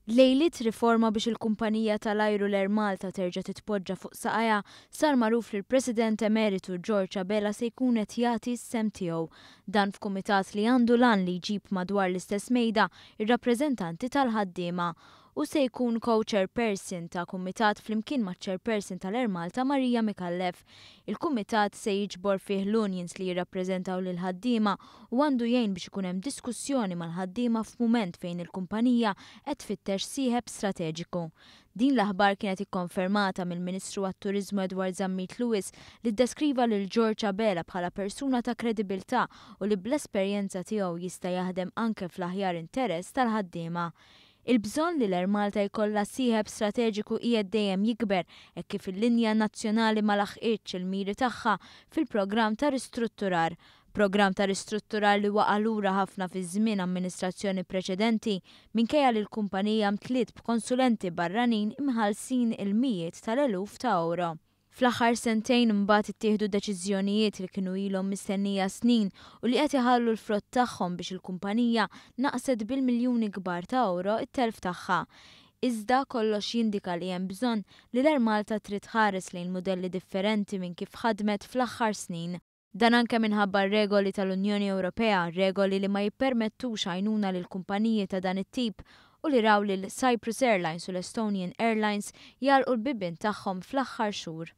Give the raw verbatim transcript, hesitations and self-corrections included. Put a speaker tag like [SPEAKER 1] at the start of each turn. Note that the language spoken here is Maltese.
[SPEAKER 1] Lejliet riforma biex il-kumpanija tal-ajru l-Air Malta terġa' titpoġġa fuq saqajha, sar magħruf li l-President Emeritu George Abela se jkun qed jagħti s-sehem tiegħu. Dan f'kumitat li għandu l-għan li jġib madwar l-istess mejda ir-rappreżentanti tal-ħaddiema. U se jkun co-chairperson ta' kumitat flimkien ma' chairperson tal-Air Malta Maria Micallef. Il-kumitat se jiġbor fih l-unions li jirrappreżentaw lil ħaddiema u għandu jgħin biex ikun hemm diskussjoni mal-ħaddiema f'mument fejn il-kumpanija qed tfittex sieħeb strateġiku. Din l-aħbar kienet ikkonfermata mill-Ministru għat-Turiżmu Edward Zammit Lewis, li ddeskriva lil George Abela bħala persuna ta' kredibilità u li bl-esperjenza tiegħu jista' jaħdem anke fl-aħjar interess tal-ħaddiema. Il-bżonn li l-Air Malta jkollha sieħeb strateġiku qiegħed dejjem jikber hekk kif il-linja nazzjonali ma laħqitx il-miri tagħha fil-programm ta' ristrutturar. Programm ta' ristrutturar li waqa' lura ħafna fi żmien amministrazzjoni preċedenti, minkejja li l-kumpanija mtliet b'konsulenti barranin imħallsin il-mijiet tal-eluf ta' euro. Fl-aħħar sentejn imbagħad ittieħdu deċiżjonijiet li kienu ilhom mistennija snin u li qed iħallu l-frott tagħhom biex il-kumpanija naqset bil-miljuni kbar ta' euro it-telf tagħha. Iżda kollox jindika li hemm bżonn li l-Air Malta trid tħares lejn modelli differenti minn kif ħadmet fl-aħħar snin. Dan anke minħabba regoli tal-Unjoni Ewropea, regoli li ma jippermettux għajnuna lil kumpaniji ta' dan it-tip u li raw lil Cyprus Airlines u l-Estonian Airlines jagħlqu l-bibien tagħhom fl-aħħar xhur.